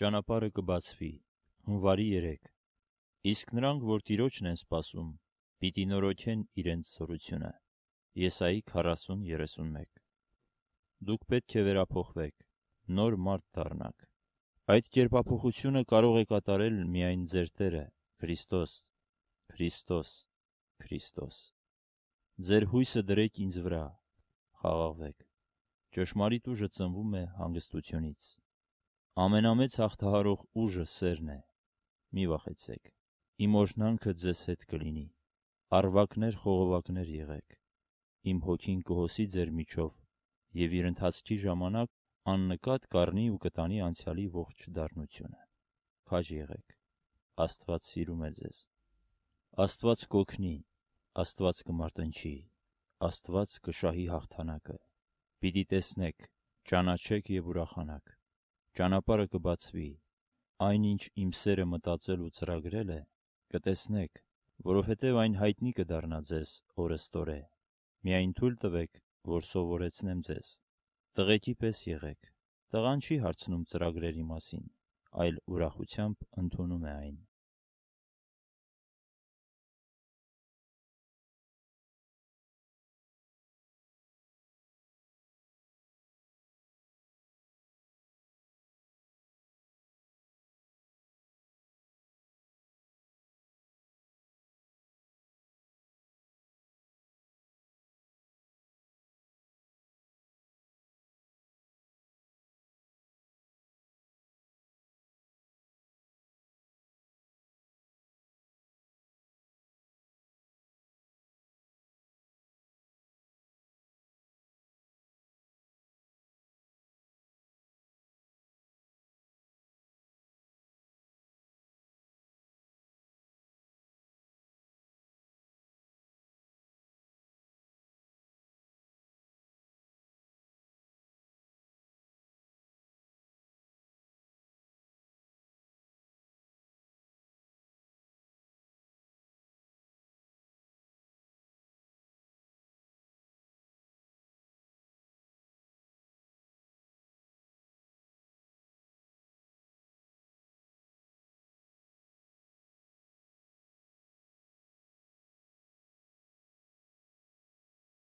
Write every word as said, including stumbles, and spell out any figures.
Ճանապարհը կբացվի, հունվարի երեք, իսկ նրանք, որ Տիրոջն են սպասում, պիտի նորոգեն իրենց զորությունը։ Եսայի քառասուն երեսունմեկ։ Դուք պետք է վերափոխվեք, նոր մարդ դառնաք։ Այդ կերպափոխությունը կարող է կատարել միայն ձեր Տերը, Քրիստոս, Քրիստոս, Քրիստոս։ Ձեր հույսը դրեք ինձ վրա, խաղաղվեք։ Ճշմարիտ ուժը ծնվում է հանգստությունից։ Ամենամեծ հաղթահարող ուժը սերն է։ Մի վախեցեք։ Իմ օրհնանքը ձեզ հետ կլինի։ Առվակներ խողովակներ եղեք։ Իմ հոգին կհոսի ձեր միջով, և իր ընթացքի ժամանակ աննկատ կառնի ու կտանի անցյալի ողջ դառնությունը։ Քաջ եղեք։ Աստված սիրում է ձեզ։ Աստված կօգնի, Աստված կմարտնչի, Աստված կշահի հաղթանակը։ Պիտի տեսնեք, ճանաչեք և ուրախանաք։ Ճանապարհը կբացվի, այն, ինչ իմ սերը մտածել ու ծրագրել է, կտեսնեք, որովհետև այն հայտնի կդառնա ձեզ օրըստօրե։ Միայն թույլ տվեք, որ սովորեցնեմ ձեզ։ Տղեկի պես եղեք։ Տղան չի հարցնում ծրագրերի մասին, այլ ուրախությամբ ընդունում է այն։